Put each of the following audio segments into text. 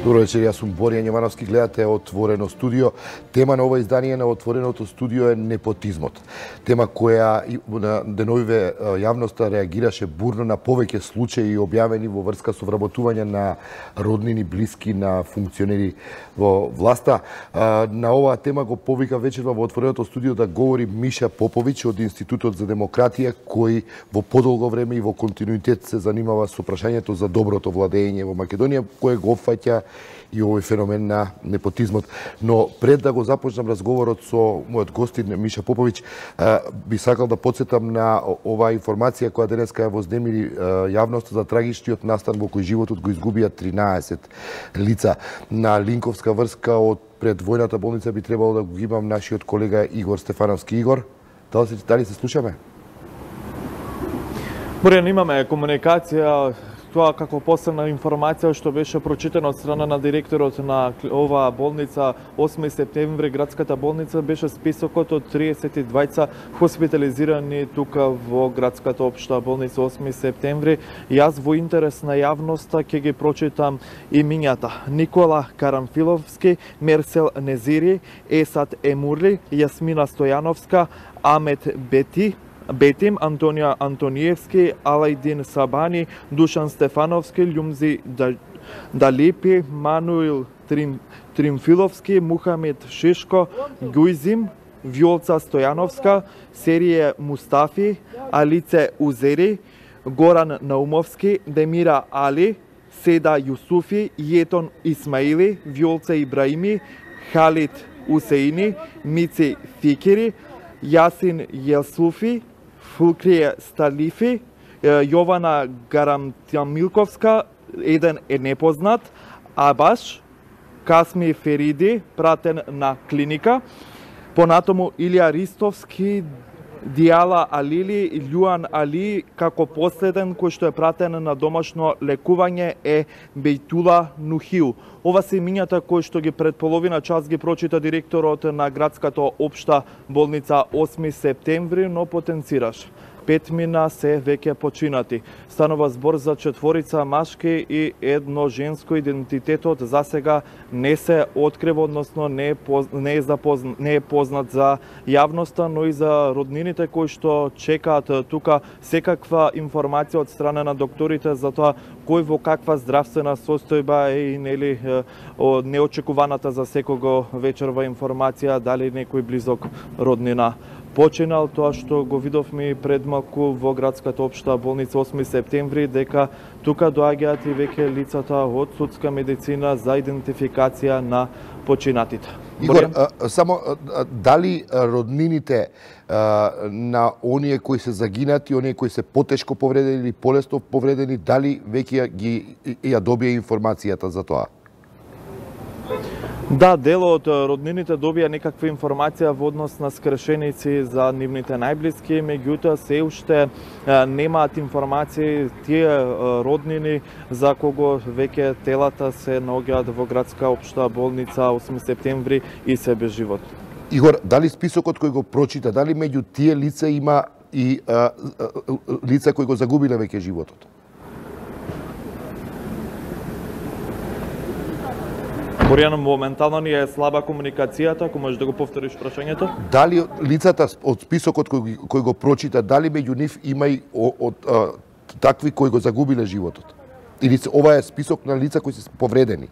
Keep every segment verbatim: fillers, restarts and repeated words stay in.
Добро вечер, јас сум Борјан Јовановски, гледате Отворено студио. Тема на ова издание на Отвореното студио е непотизмот. Тема која на деновиве јавноста реагираше бурно на повеќе случаи објавени во врска со вработување на роднини блиски на функционери во власта. На оваа тема го повика вечерва во Отвореното студио да говори Миша Поповиќ од Институтот за демократија, кој во подолго време и во континуитет се занимава со прашањето за доброто владење во Македонија, кое го опфаќа и овој феномен на непотизмот. Но пред да го започнам разговорот со мојот гостин Миша Поповиќ, би сакал да подсетам на оваа информација која денеска ја вознемири јавноста за трагичниот настан во кој животот го изгубија тринаесет лица. На линковска врска од пред војната болница би требало да го имам нашиот колега Игор Стефановски. Игор, дали се, дали се слушаме? Борјан, имаме комуникација. Тоа како последна информација што беше прочитана од страна на директорот на оваа болница осми септември, градската болница, беше списокот од триесет и двајца хоспитализирани тука во градската општа болница осми септември. Јас во интерес на јавноста ќе ги прочитам имињата: Никола Карамфиловски, Мерсел Незири, Есат Емурли, Јасмина Стојановска, Амет Бети, Бетим, Антонија Антониевски, Алајдин Сабани, Душан Стефановски, Љумзи Далипи, Мануил Трим, Тримфиловски, Мухамед Шишко, Гујзим, Вјолца Стојановска, Серије Мустафи, Алице Узери, Горан Наумовски, Демира Али, Седа Јусуфи, Јетон Исмаили, Вјолца Ибраими, Халид Усеини, Мици Фикири, Јасин Јелсуфи, Фулкрие Сталифи, Јована Гарамтјамилковска, еден е непознат, Абаш, Касми Фериди, пратен на клиника, понатаму Илија Ристовски, Дијала Алили, Љуан Али, како последен кој што е пратен на домашно лекување е Бејтула Нухиу. Ова се имињата кои што ги пред половина час ги прочита директорот на градската општа болница осми септември, но потенцираш. Петмина се веќе починати. Станува збор за четворица машки и едно женско. Идентитетот за сега не се открива, односно не е, поз... не е, запозна... не е познат за јавноста, но и за роднините кои што чекаат тука секаква информација од страна на докторите за тоа кој во каква здравствена состојба е и нели неочекуваната за секого вечерва информација дали некој близок роднина починал. Тоа што го видовме пред малку во градската општа болница осми септември, дека тука доаѓаат и веќе лицата од судска медицина за идентификација на починатите. Игор, а, само а, дали роднините а, на оние кои се загинати, оние кои се потешко повредени или полесно повредени, дали веќе ги ја добија информацијата за тоа? Да, дел од роднините добија некаква информација во однос на скршеници за нивните најблиски, меѓутоа се уште немаат информации тие роднини за кого веќе телата се наоѓаат во градска општа болница осми септември и се без живот. Игор, дали списокот кој го прочита, дали меѓу тие лица има и а, а, лица кои го загубиле веќе животот? Борјан, моментално ни е слаба комуникацијата, ако можеш да го повториш прашањето? Дали лицата од списокот кој, кој го прочита, дали меѓу нив има и од а, такви кои го загубиле животот? Или ова е список на лица кои се повредени?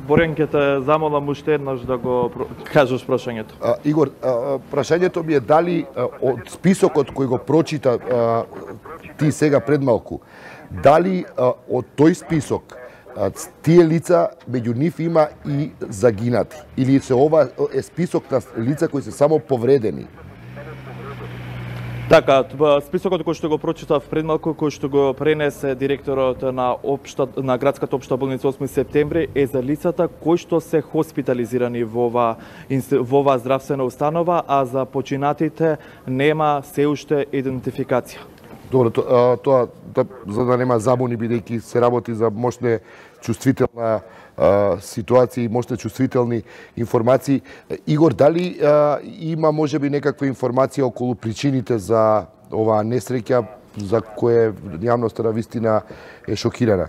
Борјан, ќе те замолам уште еднаш да го кажеш прашањето. А, Игор, а, прашањето ми е дали а, од списокот кој го прочита а, ти сега пред малку, дали а, од тој список тие лица, меѓу нив има и загинати? Или се ова е список на лица кои се само повредени? Така, списокот кој што го прочитав пред малку, кој што го пренесе директорот на општа на градската општа болница осми септември е за лицата кои што се хоспитализирани во ова во ова здравствена установа, а за починатите нема се уште идентификација. Добро, тоа, тоа да, за да нема забуни, бидејќи се работи за мощне чувствителна а, ситуација и мощне чувствителни информации. Игор, дали а, има можеби некаква информација околу причините за оваа несреќа за кое јавноста на вистина е шокирана?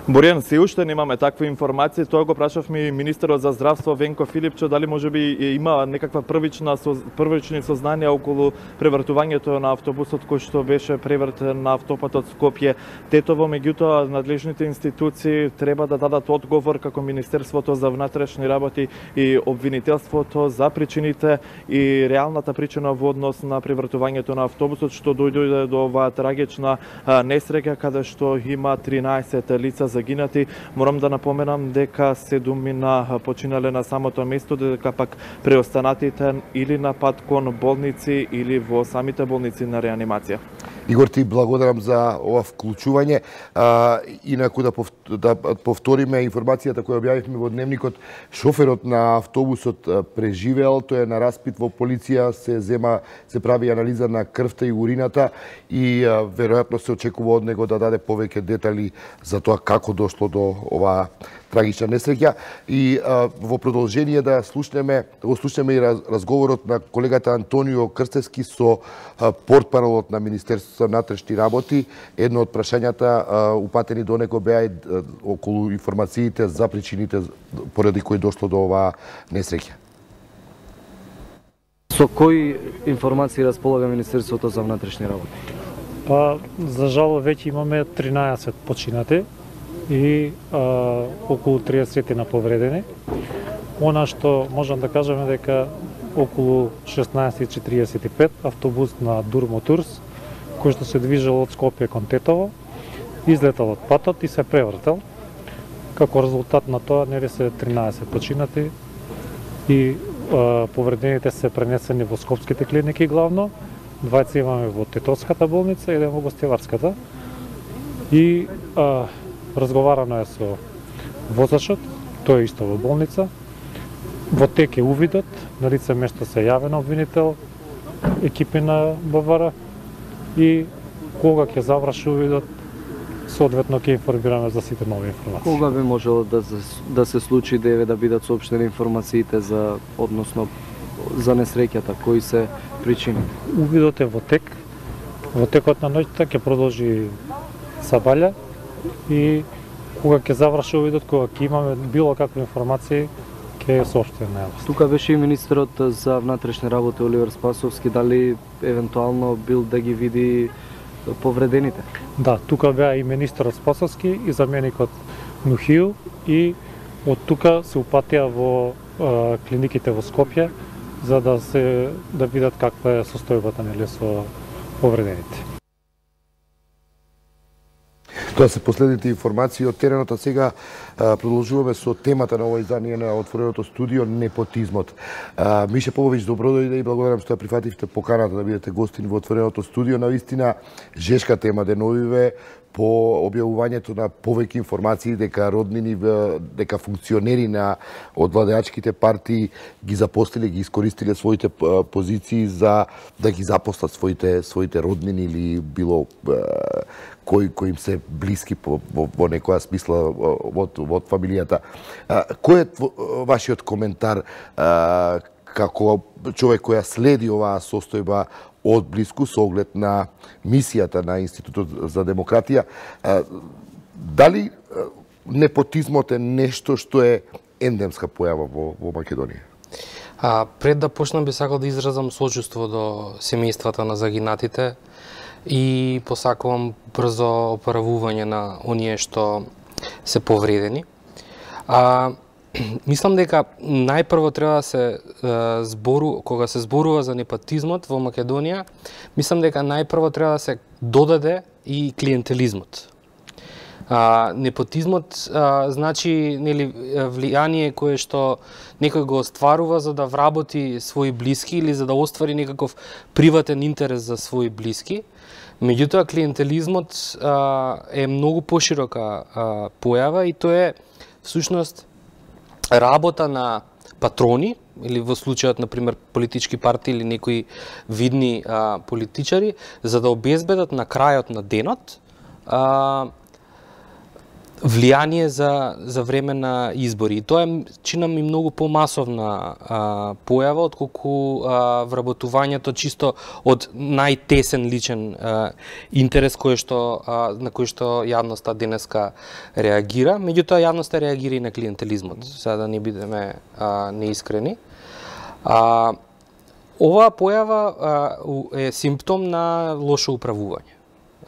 Боријан, се уште немаме такви информации. Тоа го прашавме и министерот за здравство Венко Филипчо, дали можеби има некаква првична првични сознанија околу превртувањето на автобусот кој што беше превртен на автопатот Скопје Тетово. Меѓутоа, надлежните институции треба да дадат одговор, како Министерството за внатрешни работи и обвинителството, за причините и реалната причина во однос на превртувањето на автобусот што дојде до оваа трагична несреќа каде што има тринаесет лица загинати. Морам да напоменам дека седумина починале на самото место, дека пак преостанатите или на пат кон болници или во самите болници на реанимација. Игор, ти благодарам за ова вклучување. А, инаку да, пов, да повториме информацијата која објавивме во дневникот, шоферот на автобусот преживеал, тој е на распит во полиција, се зема, се прави анализа на крвта и урината и а, веројатно се очекува од него да даде повеќе детали за тоа како дошло до оваа трагична несреќа. И а, во продолжение да слушнеме, да го слушнеме и раз, разговорот на колегата Антонио Крстевски со а, портпаролот на Министерството за внатрешни работи. Едно од прашањата а, упатени до него беа и а, околу информациите за причините поради кои дошло до оваа несреќа. Со кои информации располага Министерството за внатрешни работи? Па, за жал, веќе имаме тринаесет починати и а, околу триесет на повредени. Она што можам да кажеме дека околу шеснаесет и четириесет и пет автобус на Дурмотурс, кој што се движел од Скопје кон Тетово, излетал од патот и се превртел. Како резултат на тоа, нели се тринаесет починати и а, повредените се пренесени во скопските клиники главно. Двајца имаме во Тетовската болница, еден во Гостиварската. И а, разговарано е со возачот, тој е исто во болница. Во тек е увидот, на лице место се јавен обвинител, екипи на БВР и кога ќе заврши увидот, соодветно ќе информираме за сите нови информации. Кога би можело да се, да се случи да да бидат соопштени информациите за односно за несреќата, кои се причини? Увидот е во тек. Во текот на ноќта ќе продолжи сабаља и кога ќе заврши увидот, кога ќе имаме било какви информации, ќе соопштиме на јавност. Тука беше и министерот за внатрешни работи Оливер Спасовски, дали евентуално бил да ги види повредените? Да, тука беа и министерот Спасовски и заменикот Нухију и од тука се упатија во е, клиниките во Скопје за да се да видат каква е состојбата нели со повредените. Тоа се последните информации од теренот, а сега а, продолжуваме со темата на ова издание на Отвореното студио, непотизмот. А, Мише Поповиќ, добро дојде и благодарам што ја прифативте поканата да бидете гостин во Отвореното студио. Навистина жешка тема деновиве по објавувањето на повеќе информации дека роднини, дека функционери на од владеачките партии ги запостиле, ги искористиле своите позиции за да ги запослат своите своите роднини или било кои кои им се блиски по, во, во некоја смисла од од фамилијата. Кој е вашиот коментар како човек која следи оваа состојба од блиску со оглед на мисијата на Институтот за демократија? Дали непотизмот е нешто што е ендемска појава во, во Македонија? А, пред да почнам би сакал да изразам сочувство до семејствата на загинатите и посакувам брзо оправување на оние што се повредени. А, мислам дека најпрво треба да се е, збору, кога се зборува за непотизмот во Македонија, мислам дека најпрво треба да се додаде и клиентелизмот. А, непотизмот а, значи нели влијание кое што некој го остварува за да вработи своји блиски или за да оствари некаков приватен интерес за своји блиски. Меѓутоа клиентелизмот а, е многу поширока а, појава и тоа е всушност работа на патрони или во случајот на пример политички партии или некои видни а, политичари за да обезбедат на крајот на денот а, влијание за, за време на избори. И тоа е, чина ми, многу помасовна а, појава, отколку а, вработувањето чисто од најтесен личен а, интерес кој што, а, на кој што јавноста денеска реагира. Меѓутоа, јавноста реагира и на клиентелизмот, сега да не бидеме а, неискрени. А, оваа појава а, е симптом на лошо управување.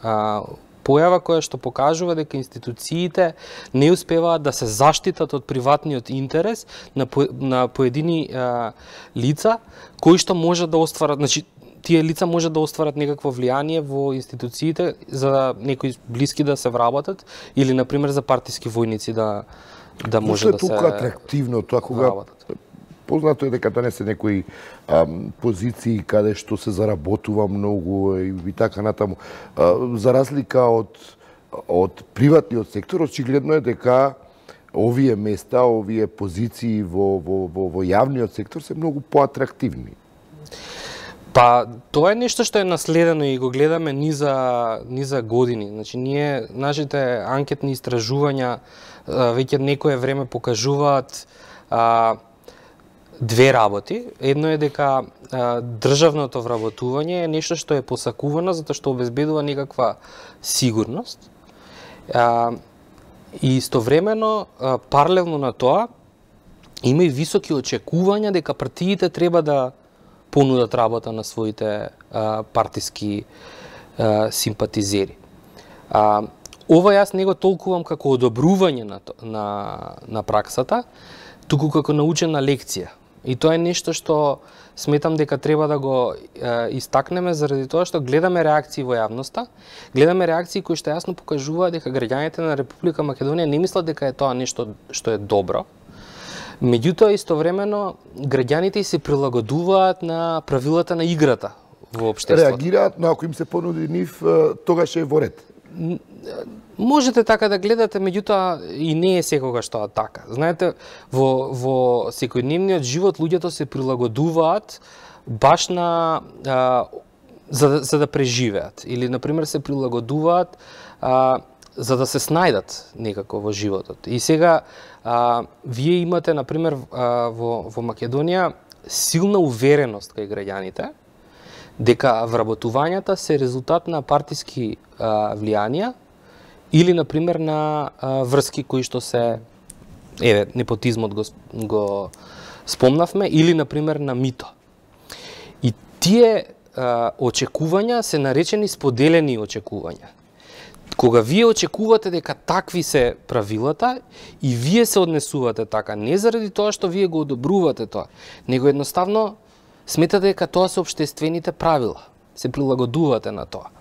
А, појава која што покажува дека институциите не успеваат да се заштитат од приватниот интерес на, по, на поедини а, лица кои што можат да остварат, значи тие лица можат да остварат некакво влијание во институциите за некои блиски да се вработат или на пример за партиски војници да да може да се Зошто е толку атрактивно тоа кога вработат? Познато е дека данес се некои ам, позиции каде што се заработува многу и, и така натаму. А, за разлика од од приватниот сектор, очигледно е дека овие места, овие позиции во во во, во јавниот сектор се многу поатрактивни. Па, тоа е нешто што е наследено и го гледаме ни за, ни за години. Значи, ние, нашите анкетни истражувања веќе некое време покажуваат а, две работи. Едно е дека а, државното вработување е нешто што е посакувано затоа што обезбедува некаква сигурност. А, и истовремено, а, паралелно на тоа, има и високи очекувања дека партиите треба да понудат работа на своите а, партиски а, симпатизери. А, ова јас не го толкувам како одобрување на, на, на праксата, туку како научена лекција. И тоа е нешто што сметам дека треба да го е, истакнеме заради тоа што гледаме реакции во јавноста, гледаме реакции кои што јасно покажуваат дека граѓаните на Република Македонија не мислат дека е тоа нешто што е добро. Меѓутоа, истовремено, граѓаните се прилагодуваат на правилата на играта во општеството. Реагираат, но ако им се понуди нив, тогаш е во ред. Можете така да гледате, меѓутоа и не е секогаш тоа така. Знаете, во, во секојдневниот живот луѓето се прилагодуваат баш на а, за, за да преживеат или на пример се прилагодуваат а, за да се снајдат некако во животот. И сега а, вие имате на пример а, во во Македонија силна увереност кај граѓаните дека вработувањата се резултат на партиски а, влијанија или, например, на а, врски кои што се, еве, непотизмот го, го спомнавме, или, например, на мито. И тие а, очекувања се наречени споделени очекувања. Кога вие очекувате дека такви се правилата и вие се однесувате така, не заради тоа што вие го одобрувате тоа, него едноставно сметате дека тоа се општествените правила, се прилагодувате на тоа.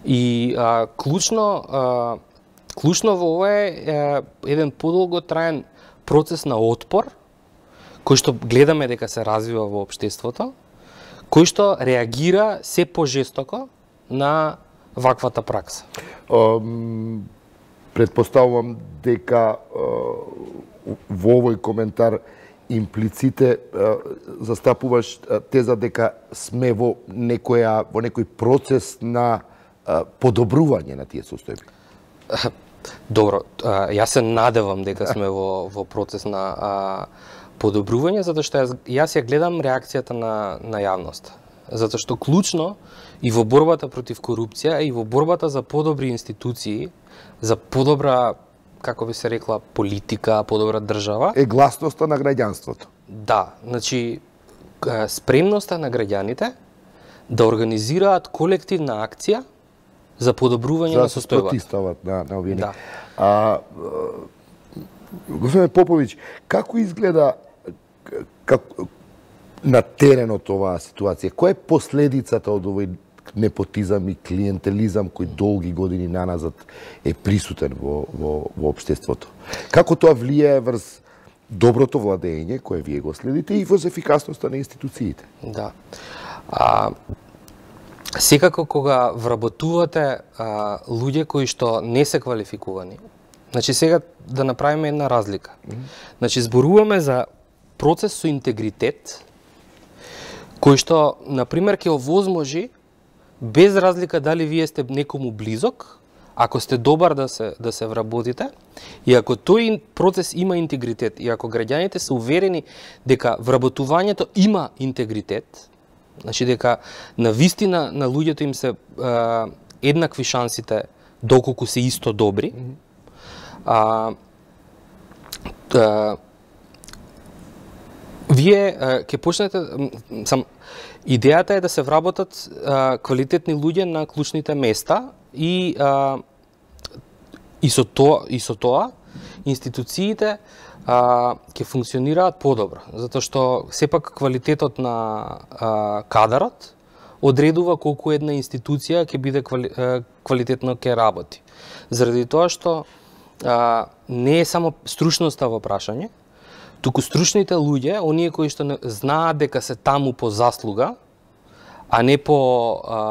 И а, клучно, а, клучно во ова е, е еден подолго траен процес на отпор, кој што гледаме дека се развива во општеството, кој што реагира се пожестоко на ваквата пракса. Um, предпоставувам дека uh, во овој коментар имплиците uh, застапуваш uh, теза дека сме во некоја во некој процес на uh, подобрување на тие состојби. Добро, uh, јас се надевам дека сме во во процес на uh, подобрување, затоа што јас, јас ја гледам реакцијата на на јавноста. Затоа што клучно и во борбата против корупција и во борбата за подобри институции, за подобра, како би се рекла, политика, подобра држава, е гласноста на граѓанството. Да, значи спремноста на граѓаните да организираат колективна акција за подобрување за на состојбата. За да се протистават на, на овие. Да. А, господин Поповиќ, како изгледа како, на теренот оваа ситуација? Која е последицата од овој непотизам и клиентелизам кој долги години наназад е присутен во, во, во општеството? Како тоа влијае врз доброто владење кое вие го следите и врз ефикасноста на институциите? Да. А, секако кога вработувате а, луѓе кои што не се квалификувани, значи сега да направиме една разлика. Mm-hmm. Значи зборуваме за процес со интегритет, кој што, например, ќе овозможи, без разлика дали вие сте некому близок, ако сте добар да се да се вработите и ако тој процес има интегритет и ако граѓаните се уверени дека вработувањето има интегритет, значи дека на вистина на луѓето им се а, еднакви шансите доколку се исто добри, а, а, вие ќе почнете сам идејата е да се вработат а, квалитетни луѓе на клучните места и а, и со тоа и со тоа институциите а, ќе функционираат подобро, затоа што сепак квалитетот на а, кадарот одредува колку една институција ќе биде квали, а, квалитетно ќе работи. Заради тоа што а, не е само стручноста во прашање, туку стручните луѓе, оние кои што не, знаат дека се таму по заслуга, а не по а,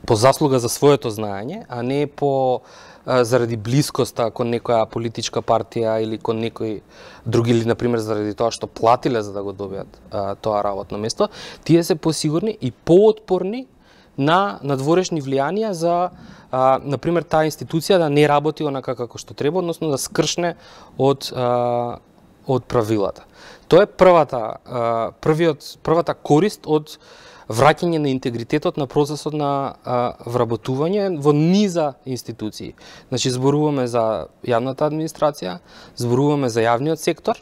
по заслуга за своето знаење, а не по а, заради блискоста кон некоја политичка партија или кон некој други, или например заради тоа што платиле за да го добијат а, тоа работно место, тие се посигурни и поотпорни на надворешни влијанија за а, например таа институција да не работи онака како што треба, односно да скршне од а, од правилата. Тоа е првата првиот првата корист од враќање на интегритетот на процесот на а, вработување во низа институции. Значи зборуваме за јавната администрација, зборуваме за јавниот сектор,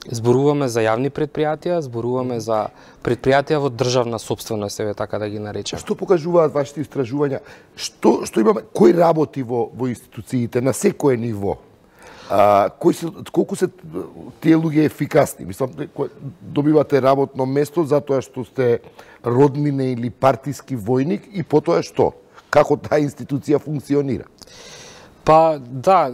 зборуваме за јавни предпријатија, зборуваме за предпријатија во државна сопственост, еве така да ги наречеме. Што покажуваат вашите истражувања? Што што имаме, кој работи во во институциите на секое ниво? А, кои се, колку се тие луѓе ефикасни? Мислам, добивате работно место затоа што сте роднина или партиски војник и потоа што? Како таа институција функционира? Па, да,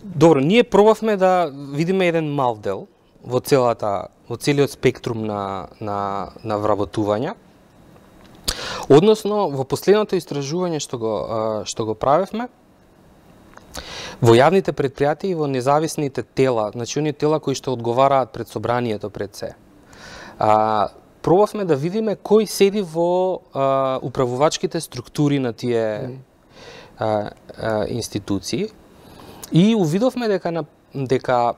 добро, ние пробавме да видиме еден мал дел во целата, во целиот спектрум на, на, на вработување. Односно, во последното истражување што го, што го правевме, во јавните предпријатија и во независните тела, значи оние тела кои што одговараат пред собранието пред се. А, пробавме да видиме кој седи во а, управувачките структури на тие а, а, институции и увидовме дека на, дека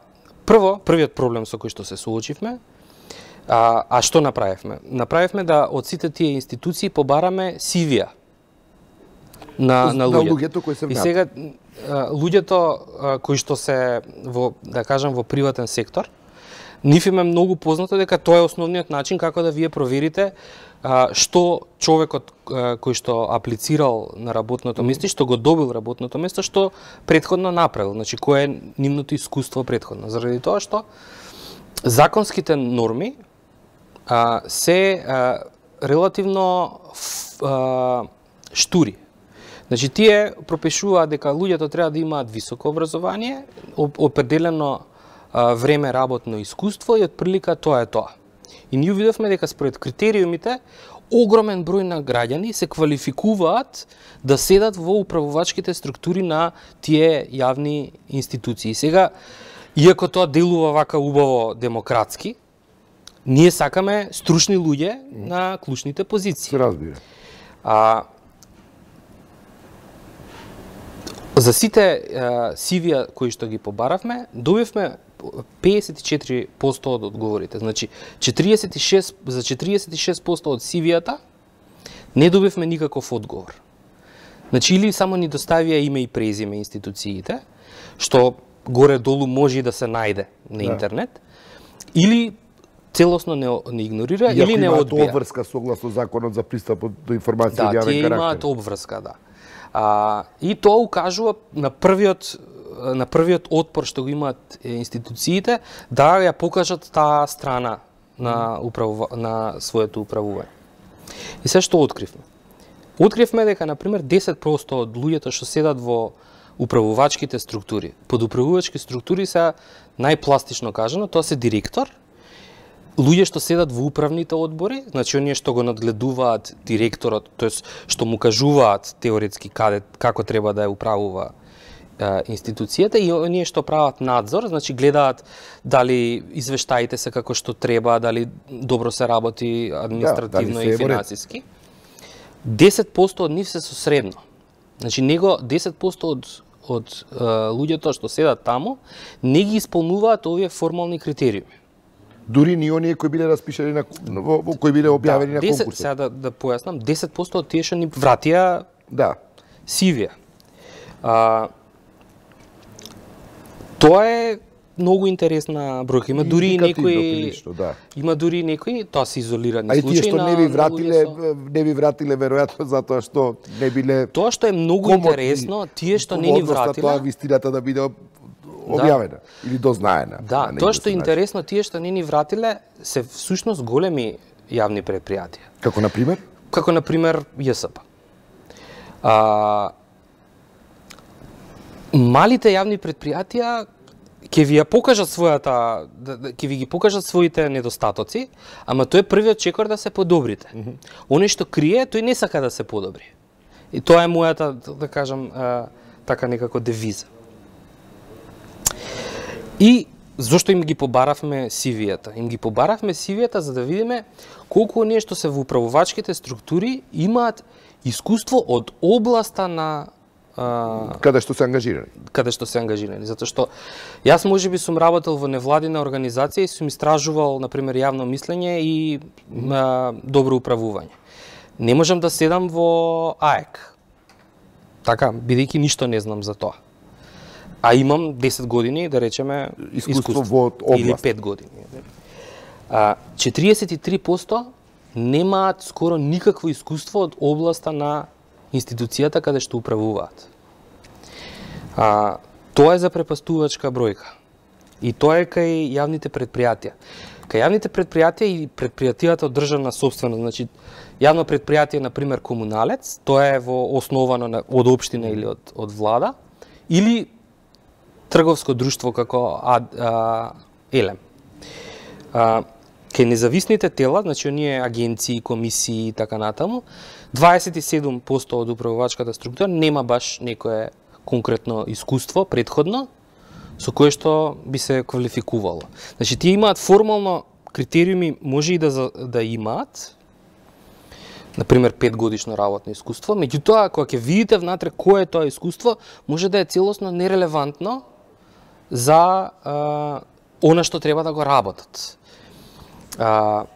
прво првиот проблем со кој што се соочивме, а, а што направивме? Направивме да од сите тие институции побараме сивија на на луѓето. На луѓето кои се И сега луѓето кои што се во, да кажам, во приватен сектор, нив им е многу познато дека тоа е основниот начин како да вие проверите а, што човекот а, кој што аплицирал на работното место и што го добил работното место, што претходно направил, значи кое е нивното искуство претходно. Заради тоа што законските норми а, се а, релативно а, штури. Значи, тие пропишуваат дека луѓето треба да имаат високо образование, определено а, време работно искуство и отприлика тоа е тоа. И ние видовме дека според критериумите огромен број на граѓани се квалификуваат да седат во управувачките структури на тие јавни институции. Сега, иако тоа делува вака убаво демократски, ние сакаме стручни луѓе на клучните позиции. Се разбира. А, За сите а, сивија кои што ги побаравме, добивме педесет и четири проценти од одговорите. Значи, четириесет и шест, за четириесет и шест проценти од сивијата не добивме никаков одговор. Значи, или само ни доставија име и презиме институциите, што горе-долу може и да се најде на интернет, да. Или целосно не, не игнорира, Иако или не одбија. Иако имаат обврска согласно законот за пристап до информација од да, јавен карактер. Да, тие имаат обврска, да. А, и тоа укажува на првиот на првиот отпор што го имаат институциите да ја покажат таа страна на управува, на своето управување. И се што откривме? Откривме дека на пример десет проценти од луѓето што седат во управувачките структури, под управувачки структури се најпластично кажано, тоа се директор, луѓе што седат во управните одбори, значи оние што го надгледуваат директорот, тоест што му кажуваат теоретски каде како треба да ја управува е, институцијата, и оние што прават надзор, значи гледаат дали извештаите се како што треба, дали добро се работи административно да, и финансиски. десет проценти од нив се со средно. Значи него десет посто од од е, луѓето што седат таму не ги исполнуваат овие формални критериуми. Дури ни оние кои биле распишани на во, во кои биле објавени да, на конкурсот. Сега да, да појаснам, десет посто од тие што ни вратија да сивија. А, тоа е многу интересна бројка. Има дури и некои да. Има дури и некои, тоа се изолирани случаи. А и случаи тие што на, не ви вратиле, со... не ви вратиле веројатно затоа што не биле. Тоа што е многу интересно, тие што не ни вратиле, тоа вистината да биде објавена да. Или дознаена. Да, тоа што е интересно, тие што не ни вратиле се всушност големи јавни предпријатија. Како на пример? Како на пример ЈСП. А, малите јавни предпријатија ќе ви ја покажат својата, ќе ви ги покажат своите недостатоци, ама тој е првиот чекор да се подобрите. Mm -hmm. Оне што крие, тој не сака да се подобри. И тоа е мојата, да кажам, така некако девиза. И зошто им ги побаравме сивијата? Им ги побаравме сивијата за да видиме колку оние што се во управувачките структури имаат искуство од областа на каде што се ангажирани. Каде што се ангажирани, затоа што јас можеби сум работел во невладина организација и сум истражувал на пример јавно мислење и а, добро управување. Не можам да седам во АЕК. Така, бидејќи ништо не знам за тоа. А имам десет години, да речеме, искуство, искуство во област. Или пет години. А, четириесет и три посто немаат скоро никакво искуство од областа на институцијата каде што управуваат. А, тоа е запрепастувачка бројка. И тоа е кај јавните предпријатија. Кај јавните предпријатија и предпријатијата од државна собственост, значи јавно предпријатие на пример комуналец, тоа е во основано на, од општина или од од влада, или трговско друштво како а, а, Елем. А, кај независните тела, значи оние агенции, комисии и така натаму, дваесет и седум посто од управувачката структура нема баш некое конкретно искуство предходно со кое што би се квалификувало. Значи тие имаат формално критериуми, може и да да имаат, на пример пет годишно работно искуство, меѓутоа кога ќе видите внатре кое е тоа искуство, може да е целосно нерелевантно за а, она што треба да го работат. А,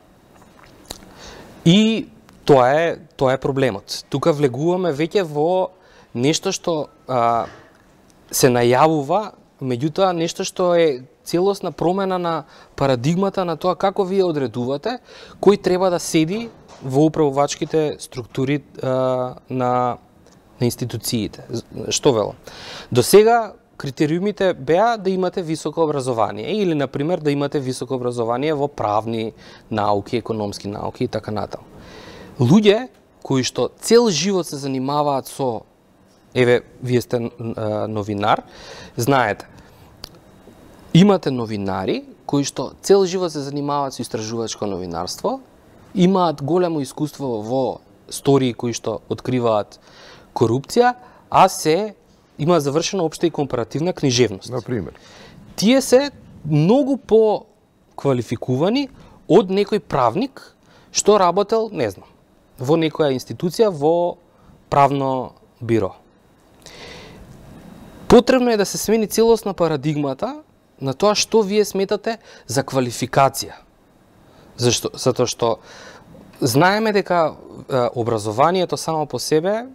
и тоа е тоа е проблемот. Тука влегуваме веќе во нешто што а, се најавува, меѓутоа нешто што е целосна промена на парадигмата на тоа како вие одредувате кој треба да седи во управувачките структури а, на на институциите. Што велам? До сега критериумите беа да имате високо образование или на пример да имате високо образование во правни науки, економски науки и така натаму. Луѓе кои што цел живот се занимаваат со, еве, вие сте а, новинар, знаете, имате новинари кои што цел живот се занимаваат со истражувачко новинарство, имаат големо искуство во стории кои што откриваат корупција, а се има завршена општа и компаративна книжевност. Например. Тие се многу по квалификувани од некој правник што работел, не знам, во некоја институција во правно биро. Потребно е да се смени целосна парадигмата на тоа што вие сметате за квалификација. Зашто? Затоа што знаеме дека е, образованието само по себе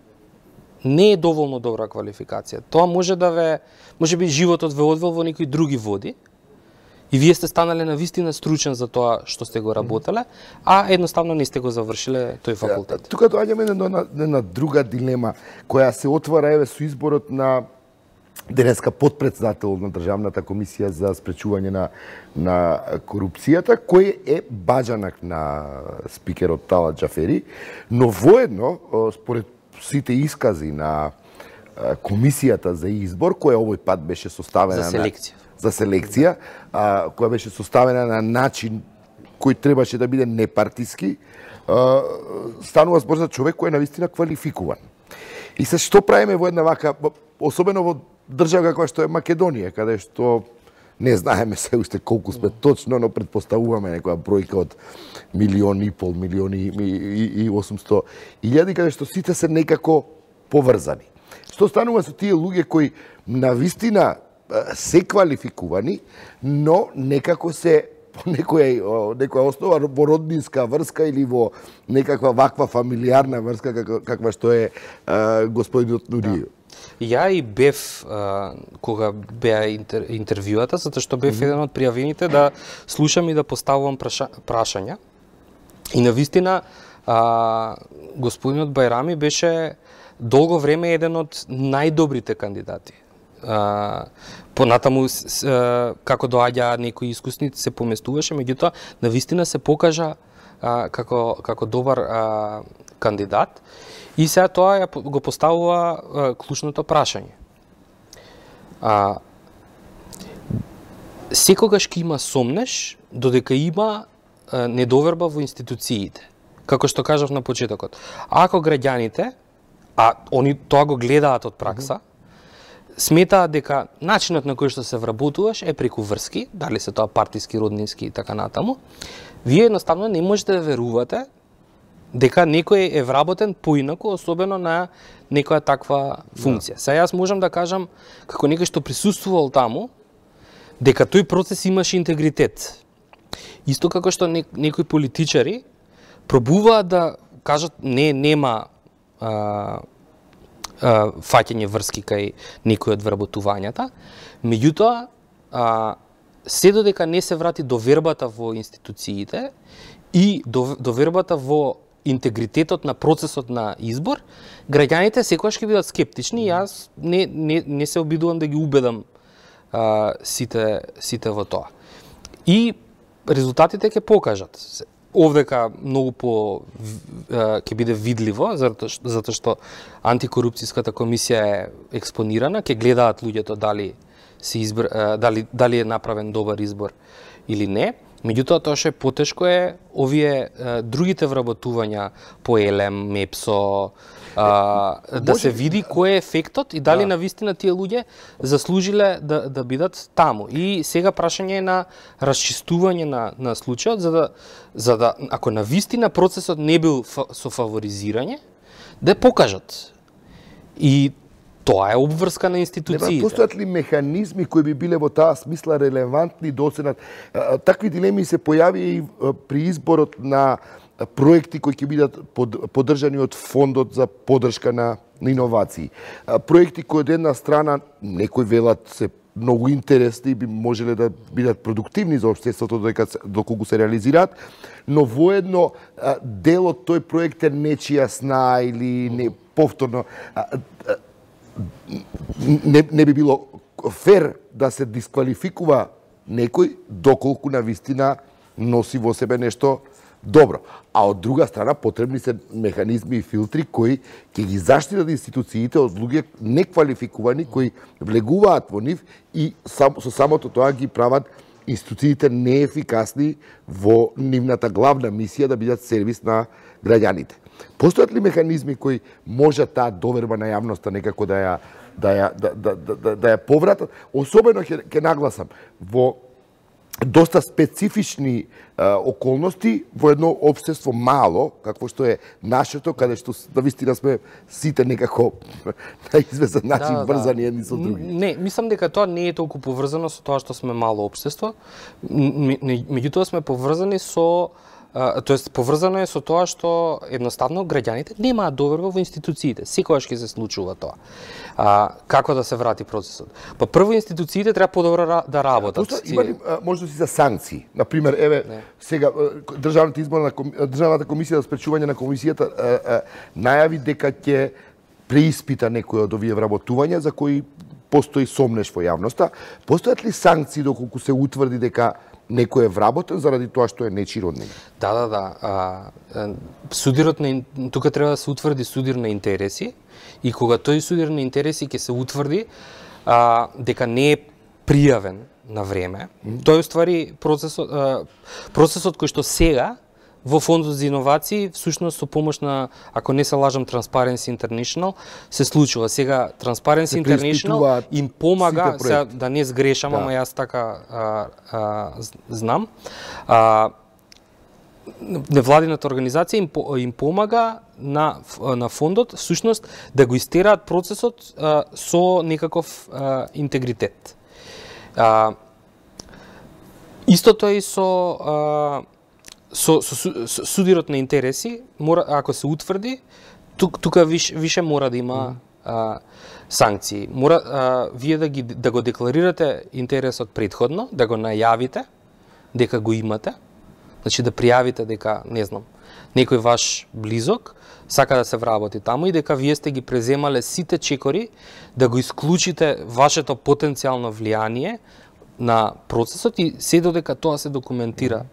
не е доволно добра квалификација. Тоа може да ве, може би животот ве одвел во некои други води и вие сте станале на вистина стручен за тоа што сте го работеле, а едноставно не сте го завршиле тој факултет. Тука доаѓаме на, на, на друга дилема која се отвара еве со изборот на денеска подпредседател на Државната комисија за спречување на на корупцијата, кој е баџанак на спикерот Талат Џафери, но воедно според сите искази на комисијата за избор, која овој пат беше составена за селекција, на, за селекција, а, која беше составена на начин кој требаше да биде непартиски, а, станува збор за човек кој е навистина квалификуван. И се што правиме во една вака, особено во држава која што е Македонија, каде што не знаеме се уште колку сме точно, но предпоставуваме некоја бројка од милион и пол, милион и, и, и осумсто илјади, каде што сите се некако поврзани. што станува со тие луѓе кои навистина се квалификувани, но некако се по некоја, некоја основа во роднинска врска или во некаква ваква фамилиарна врска каква, каква што е а, господинот Нуриев. Да. Ја и бев а, кога беа интер, интервјуата, затоа што бев mm -hmm. еден од пријавените да слушам и да поставувам праша, прашања. И навистина а, господинот Бајрами беше долго време еден од најдобрите кандидати. Uh, понатаму uh, како доаѓа некои искусници се поместуваше, меѓутоа навистина се покажа uh, како како добар uh, кандидат и сега тоа ја го поставува uh, клучното прашање. Uh, секогаш ќе има сомнеш додека има uh, недоверба во институциите. Како што кажав на почетокот. Ако граѓаните, а они тоа го гледаат од пракса, mm -hmm. сметаат дека начинот на кој што се вработуваш е преку врски, дали се тоа партиски, роднински и така натаму, вие едноставно не можете да верувате дека некој е вработен поинаку, особено на некоја таква функција. Да. Сега јас можам да кажам, како некој што присуствувал таму, дека тој процес имаше интегритет. Исто како што некои политичари пробуваат да кажат не, нема а, фаќање врски кај некој од вработувањата, меѓутоа се додека не се врати довербата во институциите и довербата во интегритетот на процесот на избор, граѓаните секогаш ќе бидат скептични и јас не, не, не се обидувам да ги убедам а, сите, сите во тоа. И резултатите ќе покажат. Овдека многу по ќе биде видливо, затоа што антикорупцијската комисија е експонирана, ќе гледаат луѓето дали се избор, дали дали е направен добар избор или не. Меѓутоа тоа што е потешко е овие другите вработувања по Елем, Мепсо, а, да може... се види кој е ефектот и дали да. Навистина тие луѓе заслужиле да, да бидат таму. И сега прашање е на расчистување на, на случајот, за да, за да, ако навистина процесот не бил со фаворизирање, да покажат. И тоа е обврска на институциите. Постојат ли механизми кои би биле во таа смисла релевантни до сенат? Такви дилеми се појави и при изборот на проекти кои ќе бидат поддржани од фондот за поддршка на, на иновации. Проекти кои од една страна некои велат се многу интересни и би можеле да бидат продуктивни за општеството доколку се реализираат, но воедно дел од тој проект е нечија сна или не повторно не, не би било фер да се дисквалификува некој доколку на вистина носи во себе нешто добро. А од друга страна потребни се механизми и филтри кои ќе ги заштитат институциите од луѓе неквалификувани кои влегуваат во нив и сам, со самото тоа ги прават институциите неефикасни во нивната главна мисија да бидат сервис на граѓаните. Постојат ли механизми кои може таа доверба на јавноста некако да ја да ја да да да, да, да ја повратат? Особено ќе ќе нагласам во доста специфични а, околности во едно општество мало, какво што е нашето, каде што навистина сме сите некако на известен начин да, врзани едни со други. Не, мислам дека тоа не е толку поврзано со тоа што сме мало општество, меѓутоа сме поврзани со тоест поврзано е со тоа што едноставно граѓаните немаат доверба во институциите. Секогаш ќе се случува тоа. А, како да се врати процесот? Па прво институциите треба подобро да работат. Просто има ли можности за санкции? Например, еве не. Сега државната изборна државната комисија за спречување на комисијата а, а, најави дека ќе преиспита некои од овие вработувања за кои постои сомнеш во јавноста. Постојат ли санкции доколку се утврди дека некој е вработен заради тоа што е нечи роднина? Да, да, да. А, судирот на тука треба да се утврди судир на интереси и кога тој судир на интереси ќе се утврди а, дека не е пријавен на време, mm. тој уствари процесот а, процесот кој што сега во фондот за иновации, всушност со помош на, ако не се лажам, Transparency International, се случува. Сега Transparency International им помага, сега, да не сгрешам, да. Ама јас така а, а, знам, а, невладината организација им, им помага на, на фондот всушност да го истераат процесот а, со некаков а, интегритет. А, истото е и со, а, со, со, со судирот на интереси, мора, ако се утврди, тук, тука виш, више мора да има а, санкции. Мора а, вие да, ги, да го декларирате интересот предходно, да го најавите дека го имате, значи да пријавите дека, не знам, некој ваш близок сака да се вработи таму и дека вие сте ги преземале сите чекори да го исклучите вашето потенцијално влијание на процесот и се додека тоа се документира.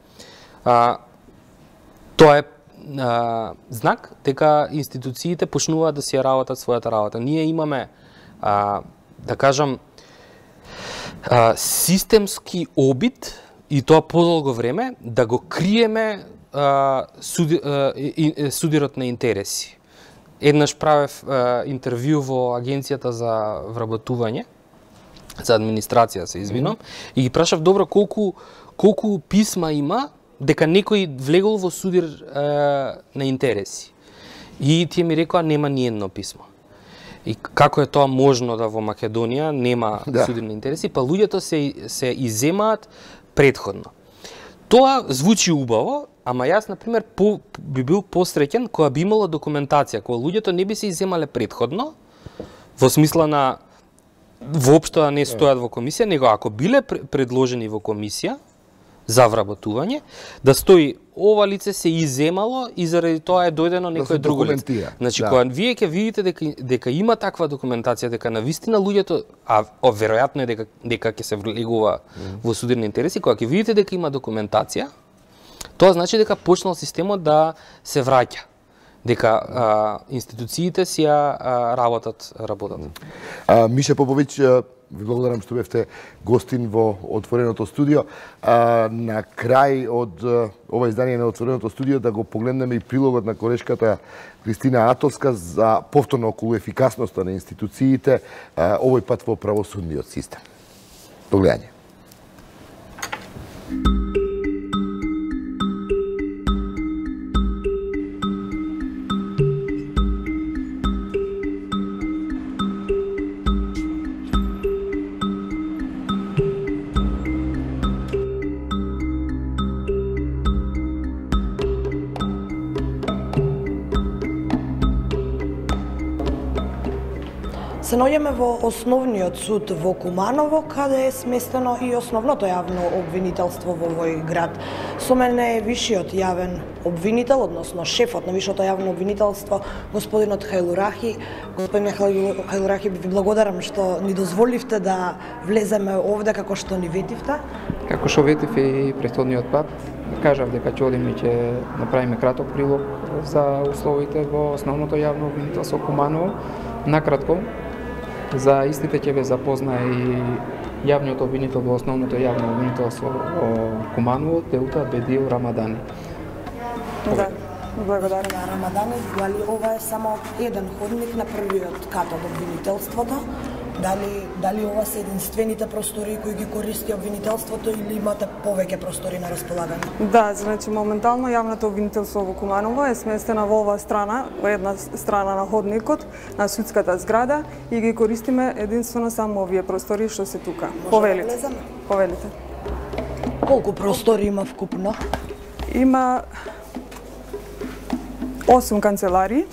А, тоа е а, знак дека институциите почнуваат да си ја работат својата работа. Ние имаме, а, да кажам, а, системски обид и тоа подолго време да го криеме а, суди, а, и, судирот на интереси. Еднаш правев а, интервју во Агенцијата за вработување, за администрација се извинам, mm-hmm. и ги прашав добро колку колку писма има дека некој влегол во судир а, на интереси. И тие ми рекоа нема ни едно писмо. И како е тоа можно да во Македонија нема да. Судир на интереси, па луѓето се се иземаат предходно. Тоа звучи убаво, ама јас на пример по, би бил посреќен кога би имало документација, кога луѓето не би се иземале предходно, во смисла на воопшто да не стојат во комисија, него ако биле предложени во комисија за вработување, да стои ова лице се иземало и заради тоа е дојдено некој да друго лице. Значи, да. Кога вие ќе видите дека, дека има таква документација, дека навистина луѓето, а о, веројатно е дека, дека ќе се влегува mm. во судир на интереси, кога ќе видите дека има документација, тоа значи дека почнал системот да се враќа. Дека а, институциите си ја а, работат, работат. А, Миша Поповиќ, ви благодарам што бевте гостин во Отвореното студио. А, на крај од ова издание на Отвореното студио да го погледнеме и прилогот на колешката Кристина Атовска за повторно околу ефикасноста на институциите, а, овој пат во правосудниот систем. До гледање. Се наоѓаме во основниот суд во Куманово, каде е сместено и основното јавно обвинителство во овој град. Со мене е вишиот јавен обвинител, односно шефот на вишото јавно обвинителство, господинот Хајлурахи. Господин Хајлурахи, ви благодарам што ни дозволивте да влеземе овде како што ни ветивте. Како што ветив и претходниот пат, кажав дека ќе одиме и ќе направиме краток прилог за условите во основното јавно обвинителство Куманово. Накратко, за истите ќе ве запозна и јавниот обвинител во основното јавно обвинителство во Куманово, Теута Бедил Рамадани. Да, благодарам на Рамадани. Дали ова е само еден ходник на првиот кат од обвинителството? Дали, дали ова се единствените простори кои ги користи обвинителството или имате повеќе простори на располагање? Да, значи моментално јавното обвинителство во Куманово е сместена во оваа страна, во една страна на ходникот, на судската зграда и ги користиме единствено само овие простори што се тука. Повелите. Да Повелите. Колку простори има вкупно? Има осум канцеларии,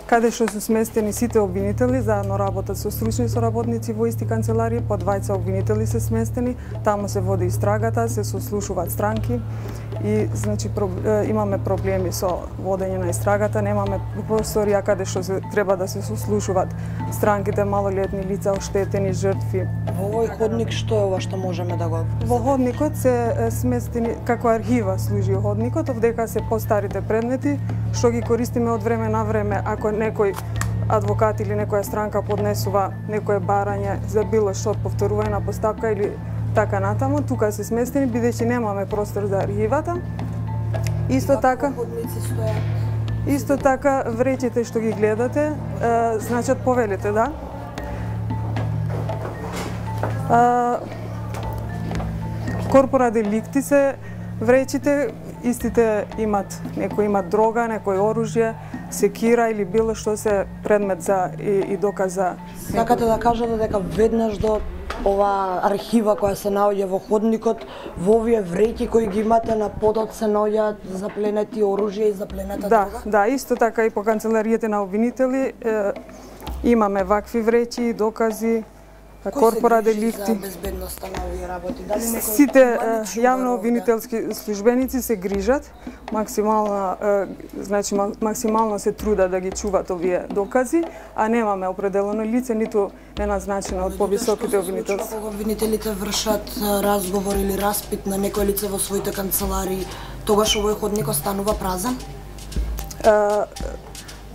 каде што се сместени сите обвинители, заедно работат со стручни соработници во исти канцеларии, по двајца обвинители се сместени, таму се води истрагата, се сослушуваат странки и значи про, имаме проблеми со водење на истрагата, немаме просторија каде што се треба да се сослушуваат странките, малолетни лица, оштетени, жртви. Во овој ходник што е ова што можеме да го? Во ходникот се сместени како архива служи ходникот, овдека се постарите предмети што ги користиме од време на време ако некој адвокат или некоја странка поднесува некое барање за било што повторување на постапка или така натаму, тука се сместени бидејќи немаме простор за архивата. Исто така Исто така вреќите што ги гледате, е, значат повелите, да. Корпора деликти се вреќите истите имат, некои имат дрога, некој оружје, секира или било што се предмет за и, и доказ за. Сакате да кажете дека веднаш до ова архива која се наоѓа во ходникот, во овие вреќи кои ги имате на подот се наоѓаат запленети оружје и запленета да, дрога? Да, исто така и по канцелариите на обвинители е, имаме вакви вреќи, докази, корпора деликти. За безбедноста на овие работи? Дали некој Сите јавно обвинителски службеници се грижат, максимално, значи максимално се трудат да ги чуват овие докази, а немаме определено лице, ниту е назначено од повисоките обвинителства. Кога обвинителите вршат разговор или распит на некој лице во своите канцеларии, тогаш овој ходник останува празен? А,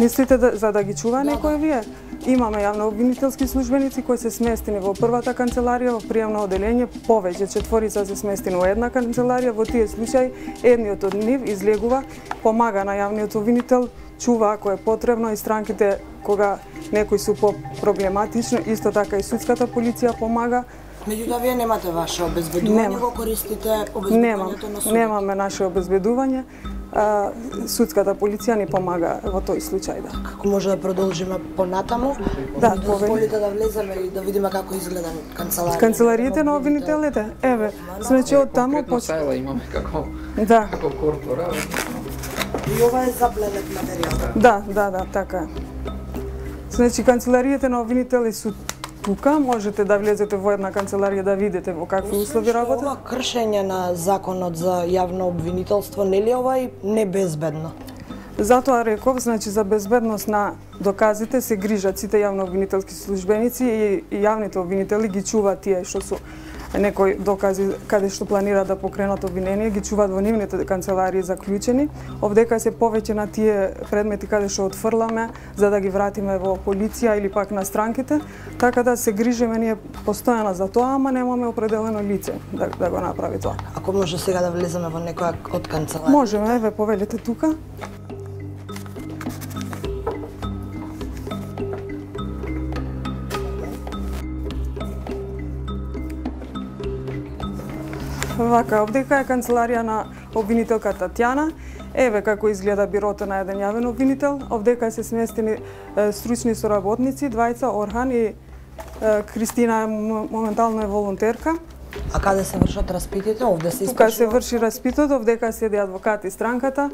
мислите да, за да ги чува да, некој вие? Имаме јавно обвинителски службеници кои се сместени во првата канцеларија, во приемно оделение, повеќе четворица се сместени во една канцеларија. Во тие случаи едниот од нив излегува, помага на јавниот обвинител, чува ако е потребно и странките кога некои су по-проблематично, исто така и судската полиција помага. Меѓутоа, вие немате ваше обезбедување, Нема. Го користите обезбедувањето на судот? Немаме наше обезбедување. А, судската полиција ни помага во тој случај, да. Како може да продолжиме понатаму? Да, дозволите да влеземе и да видиме како изгледа канцеларијата. Канцелариите на обвинителите, еве, значи од таму почнува. Имаме како да. како корпора. И ова е запленет материјал. Да, да, да, така. Значи канцелариите на обвинители су тука, можете да влезете во една канцеларија да видите во какви услови работат. Ова кршење на законот за јавно обвинителство, нели ова и небезбедно? Затоа реков, значи за безбедност на доказите се грижат сите јавно обвинителски службеници и, и јавните обвинители ги чуваат тие што су некои докази каде што планира да покренат обвинение, ги чуваат во нивните канцеларии заклучени. Овдека се повеќе на тие предмети каде што отфрламе за да ги вратиме во полиција или пак на странките, така да се грижиме ние постојано за тоа, ама немаме определено лице да, да го направи тоа. Ако може сега да влеземе во некоја од канцеларија? Можеме, еве повелете тука. Вака, овдека е канцеларија на обвинителка Татјана. Еве како изгледа бирото на еден јавен обвинител. Овдека се сместени е, стручни соработници, двајца, Орхан и е, Кристина моментално е волонтерка. А каде се вршат распитите? Овде се Тука се врши распитот, овдека седи адвокат и странката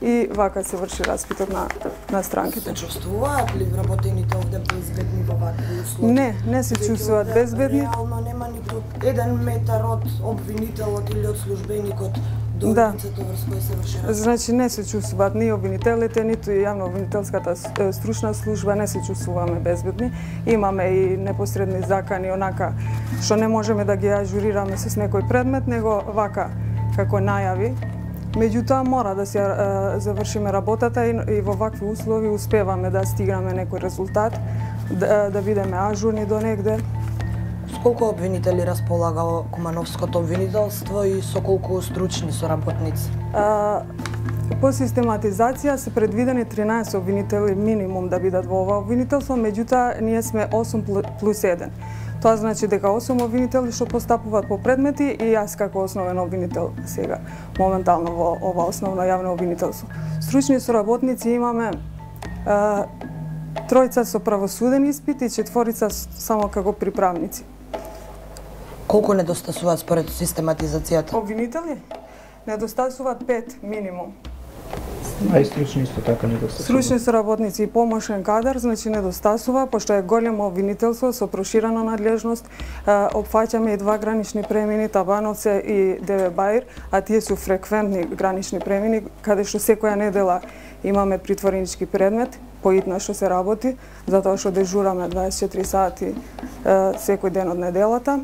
и вака се врши распитот на, на странките. Се чувствуваат ли вработените овде безбедни во вакви услови? Не, не се чувствуваат безбедни. Реално нема ниту еден метар од обвинителот или од службеникот до да. лицето врз кој се врши распит? Значи не се чувствуваат ни обвинителите, ниту и јавно обвинителската стручна служба, не се чувствуваме безбедни. Имаме и непосредни закани, онака што не можеме да ги ажурираме с некој предмет, него вака како најави. Меѓутоа мора да се а, завршиме работата и, и во вакви услови успеваме да стигнеме некој резултат, да, да бидеме ажурни до негде. С колку обвинители располага Кумановското обвинителство и со колку стручни соработници? А, по систематизација се предвидени тринаесет обвинители минимум да бидат во ова обвинителство, меѓутоа ние сме осум плюс еден. Тоа значи дека осум обвинители што постапуваат по предмети и јас како основен обвинител сега, моментално во ова основно јавно обвинителство. Стручни соработници имаме а, тројца со правосуден испит и четворица само како приправници. Колку недостасуваат според систематизацијата? Обвинители недостасуваат пет минимум. А и стручни исто така недостасува. Стручни соработници и помошен кадар, значи недостасува, пошто е големо обвинителство со проширена надлежност, опфаќаме и два гранични премини, Табановце и Деве Баир, а тие су фреквентни гранични премини, каде што секоја недела имаме притворенички предмет, поитно што се работи, затоа што дежураме дваесет и четири сати секој ден од неделата.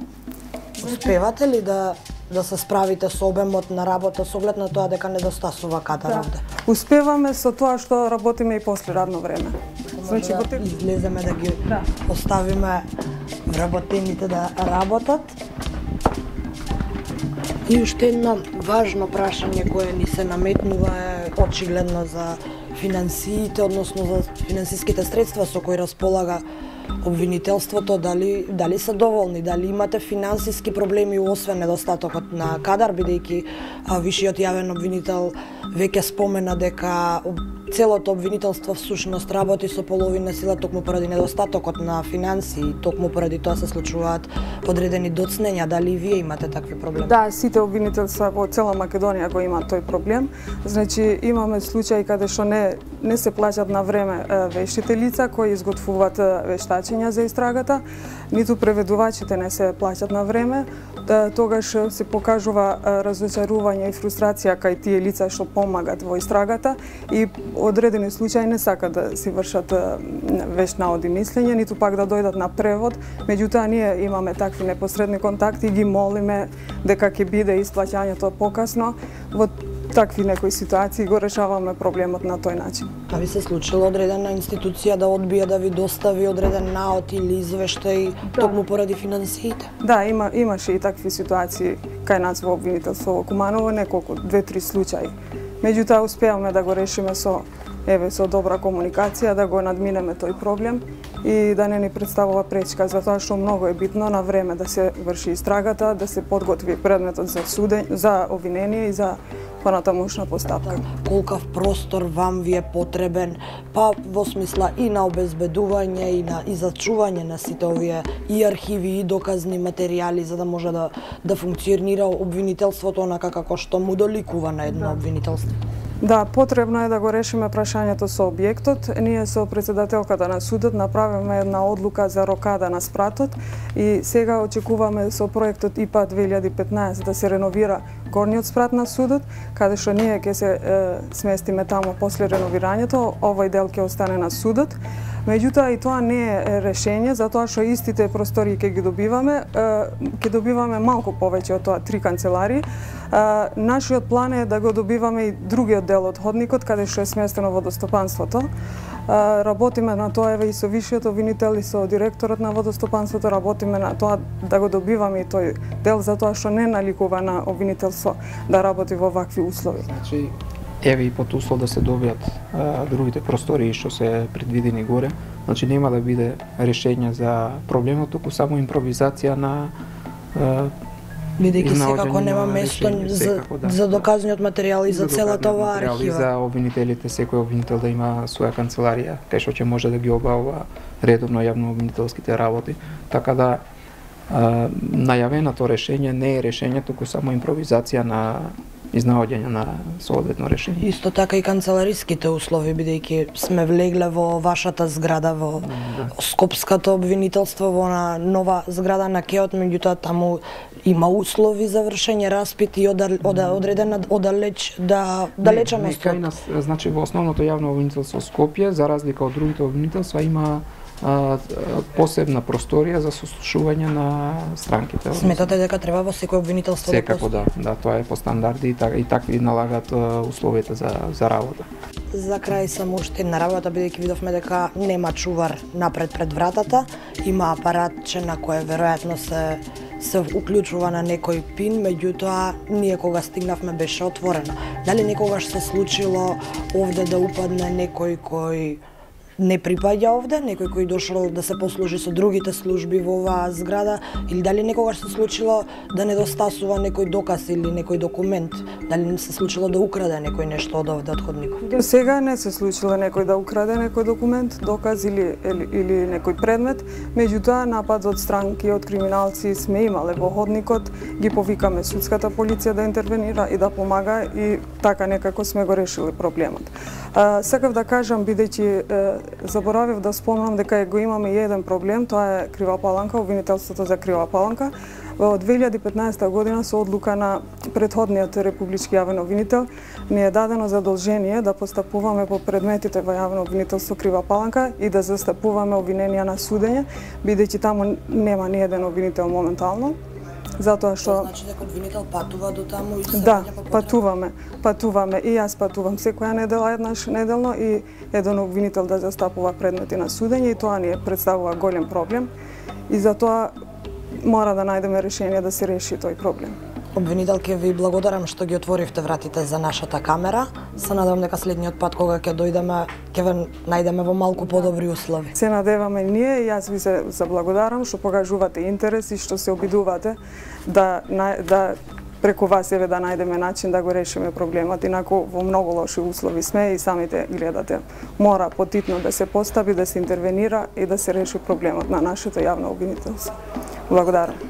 Успевате ли да да се справите со обемот на работа со оглед на тоа дека недостасува кадар да. овде? Успеваме со тоа што работиме и после радно време. Значи да те... излеземе да ги да. Оставиме вработените да работат. И уште едно важно прашање кое ни се наметнува е очигледно за финансиите, односно за финансиските средства со кои располага обвинителството, дали дали се доволни, дали имате финансиски проблеми освен недостатокот на кадар, бидејќи вишиот јавен обвинител веќе спомена дека целото обвинителство всушност работи со половина сила токму поради недостатокот на финансии, токму поради тоа се случуваат одредени доцнења. Дали и вие имате такви проблеми? Да, сите обвинителства во цела Македонија го имаат тој проблем. Значи имаме случаи каде што не не се плаќаат на време вештите лица кои изготвуваат вештачења за истрагата, ниту преведувачите не се плаќаат на време. Тогаш се покажува разочарување и фрустрација кај тие лица што помагат во истрагата и одредени случаи не сакат да си вршат вешт наод и мислење, ниту пак да дојдат на превод. Меѓутоа ние имаме такви непосредни контакти и ги молиме дека ќе биде исплаќањето покасно. Во такви некои ситуации го решаваме проблемот на тој начин. А ви се случило одредена институција да одбие да ви достави одреден наод или извештај да. Токму поради финансиите? Да, има имаше и такви ситуации кај нас во обвинителство во Куманово, неколку, две-три случаи. Меѓутоа успеавме да го решиме со еве со добра комуникација, да го надминеме тој проблем и да не ни представува пречка, затоа што многу е битно на време да се врши истрагата, да се подготви предметот за судење, за обвинение и за понатамошна постапка. Колкав простор вам ви е потребен, па во смисла и на обезбедување и на и за чување на сите овие и архиви и доказни материјали за да може да да функционира обвинителството онака како што му доликува на едно да. обвинителство? Да, потребно е да го решиме прашањето со објектот. Ние со председателката на судот направиме една одлука за рокада на спратот и сега очекуваме со проектот И П А две илјади и петнаесет да се реновира горниот спрат на судот, каде што ние ќе се е, сместиме таму после реновирањето, овој дел ќе остане на судот. Меѓутоа и тоа не е решение, затоа што истите простори ќе ги добиваме, ќе добиваме малку повеќе од тоа, три канцеларии. Нашиот план е да го добиваме и другиот дел од ходникот, каде што е сместено водостопанството. Работиме на тоа еве и со вишиот обвинител и со директорот на водостопанството, работиме на тоа да го добиваме и тој дел, затоа што не наликува на обвинителство да работи во вакви услови. Значи, еве и под услов да се добијат а, другите простории што се предвидени горе, значи нема да биде решение за проблемот, туку само импровизација на а, бидејќи секако нема место за, да, за доказниот материјал и за, за целата оваа архива. И за обвинителите, секој обвинител да има своја канцеларија, кај што ќе може да ги обавува редовно јавно обвинителските работи. Така да а, најавеното решение не е решение, туку само импровизација на изнаоѓање на соодветно решение. Исто така и канцелариските услови, бидејќи сме влегле во вашата зграда, во да. Скопското обвинителство, во на нова зграда на Кеот, меѓутоа таму има услови за вршење распит и одал, одал, одредена одалеч да далеченост. Кај нас, значи во основното јавно обвинителство Скопје, за разлика од другите обвинителства, има а, посебна просторија за сослушување на странките. Сметате дека треба во секој обвинителство да Секако да, да, тоа е по стандарди и, так, и такви налагат а, условите за за работа. За крај само уште една работа, бидејќи видовме дека нема чувар напред пред вратата, има апаратче на кое веројатно се се уклучува на некој пин, меѓутоа ние кога стигнавме беше отворено. Дали некогаш се случило овде да упадне некој кој не припаѓа овде, некој кој дошол да се послужи со другите служби во оваа зграда, или дали некогаш се случило да недостасува некој доказ или некој документ, дали не се случило да украде некој нешто од овде од ходникот? До сега не се случило некој да украде некој документ, доказ или, или, или некој предмет, меѓутоа напад од странки, од криминалци сме имале во ходникот, ги повикаме судската полиција да интервенира и да помага и така некако сме го решили проблемот. А, сакав да кажам, бидејќи заборавив да спомнам дека го имаме и еден проблем, тоа е Крива Паланка, обвинителството за Крива Паланка. Во две илјади и петнаесета година со одлука на претходниот републички јавен обвинител ни е дадено задолжение да постапуваме по предметите во јавно обвинителство Крива Паланка и да застапуваме обвиненија на судење, бидејќи таму нема ни еден обвинител моментално. Затоа што значи дека обвинител патува до таму и се да, патуваме, патуваме и јас патувам секоја недела еднаш неделно и еден обвинител да застапува предмети на судење и тоа ни представува голем проблем и затоа мора да најдеме решение да се реши тој проблем. Обвинителке, ви благодарам што ги отворивте вратите за нашата камера. Се надевам дека следниот пат кога ќе дојдеме, ќе ве најдеме во малку подобри услови. Се надеваме ние и јас ви се заблагодарам што покажувате интерес и што се обидувате да да преку вас еве да најдеме начин да го решиме проблемот. Инаку во многу лоши услови сме и самите гледате. Мора потитно да се постави, да се интервенира и да се реши проблемот на нашето јавно обвинителство. Благодарам.